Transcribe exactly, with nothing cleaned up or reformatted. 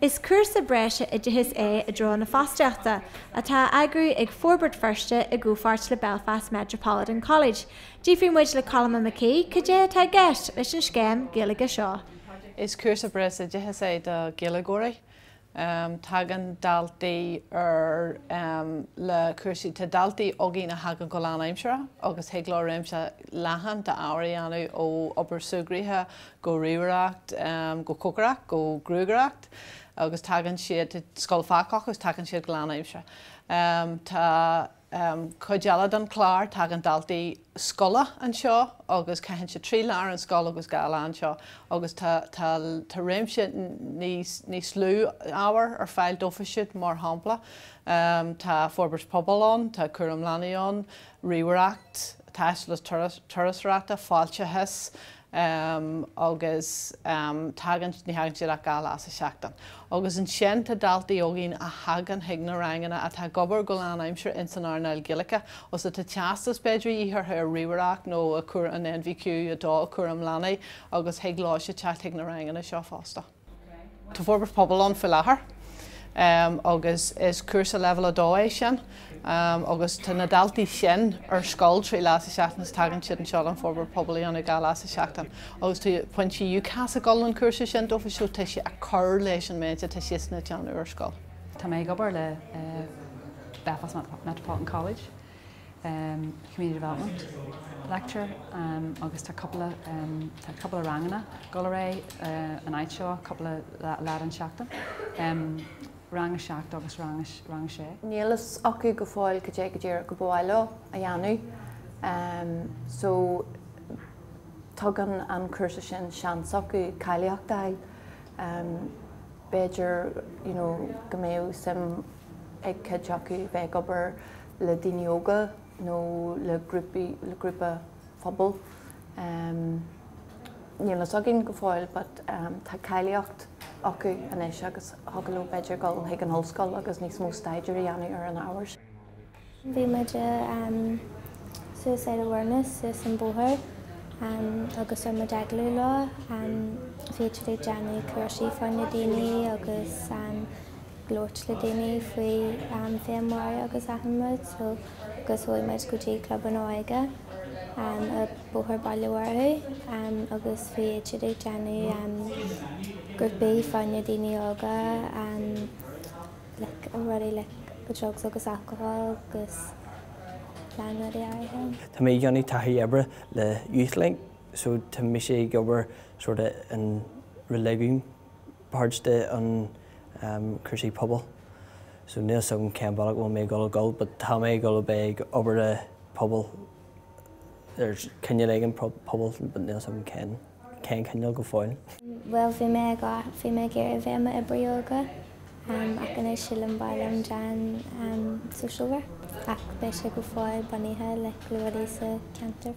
Is cúrsa breise oideachais é i dtreo na fostaíochta atá á eagrú ag Forbairt Feirste i gcomhpháirt le Belfast Metropolitan College. D'fhiafraigh muid le Colma McKee cad é atá i gceist leis an scéim Gaeilge seo. Is cúrsa breise oideachais é do Ghaeilgeoirí. Um, tagann daltaí ar um, le cúrsaí tá daltaí againn a thagann go lánaimseartha agus thig leo réimse leathan d'ábhair a dhéanamh ó obair súgartha go ríomhaireacht, um, go cócaireacht, go gruagaireacht, agus tagann siad scoil fágach agus tagann siad go lánaimseartha. Um, tá um, cuid eile den chlár tagann daltaí scoile anseo agus caitheann siad trí lá an scoil agus dhá lá anseo agus tá, tá, tá réimse níos, níos lú ábhar ar fáil dófa siad mar shampla. Um, tá forbairt pobail ann, tá cúram leanaí ann, ríomhaireacht, taisteal turasóireachta, fáilteachas, um, agus um, tagann ní thagann siad ach dhá lá sa seachtain. Agus ansin tá daltaí againn a thagann chuig na ranganna atá ag obair go lánaimseartha in san earnáil Gaeilge, os tá teastas b'fhéidir orthu ar ríomhaireacht nó a chur an NVQ a dó cúram leanaí agus thig leo siad teacht chuig na ranganna seo fosta. Tá forbairt pobail ann faoi láthair. Um, agus is cúrsa level a dó é sin. Um, agus tá na daltaí sin ar scoil trí lá sa seachtain is tagann siad anseo an forbairt pobail an dhá lá sa seachtain. Agus tá pointí UCAS ag dul an cúrsa sin dófa so tá sé ag cur leis an méid atá siad ag déanamh ar scoil. Tá mé ag obair le uh, Belfast Metropolitan College, um, Community Development lecture um, agus tá cúpla um, tá cúpla ranganna go ré uh, an áit seo cúpla lá an seachtain. Um, rang a seacht agus rang rang sé. Níl a fhios acu go fóill cad é go díreach go bhfuil a dhéanamh. Um, so tugann an cúrsa sin seans acu cáilíocht a fháil. Um, B'fhéidir you know, go mbeadh suim ag cuid acu bheith ag obair le daoine óga nó le grúpaí le grúpa pobail. Um, Níl a fhios againn go fóill, but um, tá cáilíocht acu anois agus thig leo b'fhéidir dul chuig an ollscoil agus níos mó staidéir a dhéanamh ar an ábhar. Bhí muid um, suicide awareness suas an bóthar um, agus ar muid agallamh leo um, bhí siad ag déanamh cúrsaí fá na daoine agus um, labhairt le daoine faoi um, féinmharú agus achan rud so agus chuaigh muid go dtí club an óige um, a bóthar Baile Mhurchú um, agus bhí siad ag déanamh um, grúpaí fá na daoine óga um, like, rudaí like, drugs agus alcohol agus plean rudaí áirithe. Tá mé ag déanamh taithí oibre le YouthLink, so tá mise ag obair sort of an religiún part de an um, cúrsaí pobail. So níl a fhios agam cén bealach bhfuil mé ag dul dul, but tá mé ag dul bheith ag obair le pobal ar cineál éigin pobal, but níl a fhios agam cén cén cineál go fóill. Well bhí mé ag bhí mé ag iarraidh bheith i m'oibrí óige um, ach anois sílim ba mhaith liom déanamh um, social work ach beidh sé go fóill bunaithe le rudaí sa ceantar.